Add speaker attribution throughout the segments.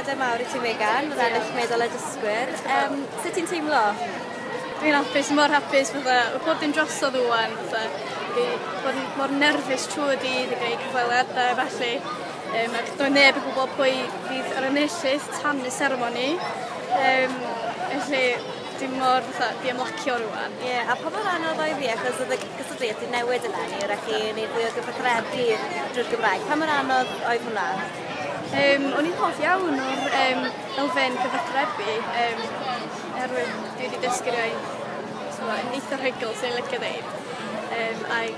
Speaker 1: Llongyfarchiadau mawr i ti, Megan, ar ennill medal y dysgwyr. Sut ti'n teimlo?
Speaker 2: Dwi'n hapus, mor hapus, fatha, mae pob dim drosodd ŵan, fatha, fi bod yn mor nerfus trwy y dydd i greu cyfweliadau, felly, ac doedd neb yn gwybod pwy fydd yr enillydd tan y seremoni. Felly, dwi'n mor fatha, di ymlacio rwan.
Speaker 1: Ie, yeah, a pa mor anodd oedd hi, achos oedd y gystadleuaeth wedi newid eleni, rhaid chi wneud fwy o gyfathrebu drwy'r Gymraeg. Pa mor anodd oedd hwnna?
Speaker 2: O'n i'n hoff iawn o'r elfen gyfathrebu, oherwydd dwi wedi dysgu'r iaith so, yn eitha rhugl, sy'n licio ddeud. Ac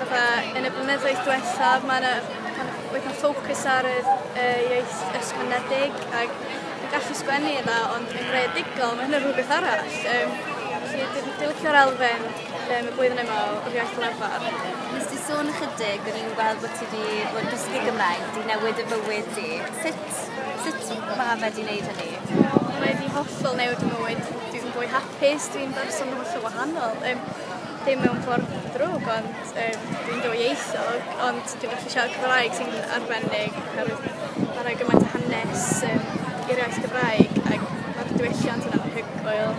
Speaker 2: fatha, yn y blynyddoedd diwethaf, mae yna ma ma ffocws ar y iaith ysgrifenedig ac dwi'n gallu sgwennu yna, ond yn greadigol, mae hynny'n rhywbeth arall. Felly dwi'n licio'r elfen y blwyddyn yma o'r iaith lafar.
Speaker 1: Nes ti sôn ychydig, o'n i'n gweld bod ti wedi bod yn dysgu Gymraeg, di newid y bywyd di. Sut mae fe di wneud hynny?
Speaker 2: Mae wedi hollol newid fy mywyd. Dwi'n fwy hapus, dwi'n berson hollol wahanol. Dim mewn ffordd ddrwg, ond dwi'n dwyieithog, ond dwi'n gallu siarad Cymraeg sy'n arbennig, oherwydd mae'n rhoi gymaint o hanes i'r iaith Gymraeg, ac mae'r diwylliant yn anhygoel.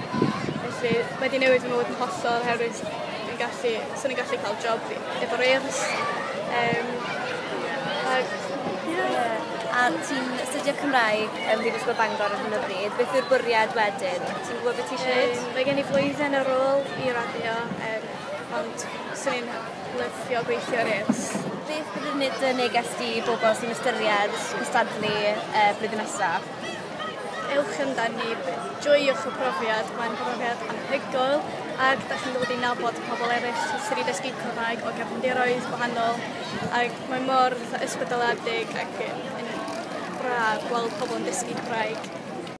Speaker 2: Felly mae wedi newid fy mywyd yn hollol, oherwydd dwi'n gallu, swn i'n gallu cael job efo'r Urdd. Ac, yeah.
Speaker 1: A ti'n astudio Cymraeg ym Mhrifysgol Bangor ar hyn o bryd. Beth yw'r bwriad wedyn? Ti'n gwybod beth ti eisiau gwneud?
Speaker 2: Mae gen i flwyddyn ar ôl i raddio, ond swn i'n lyfio gweithio ar Urdd.
Speaker 1: Beth bydd dy neges di i bobl sy'n ystyried cystadlu blwyddyn nesaf?
Speaker 2: Ewch amdani, joiwch y profiad, mae'n profiad anhygoel ac da chi'n dod i nabod pobl eraill sydd wedi dysgu Cymraeg o gefndiroedd gwahanol ac mae mor ysbrydoledig ac yn braf gweld pobl yn dysgu Cymraeg.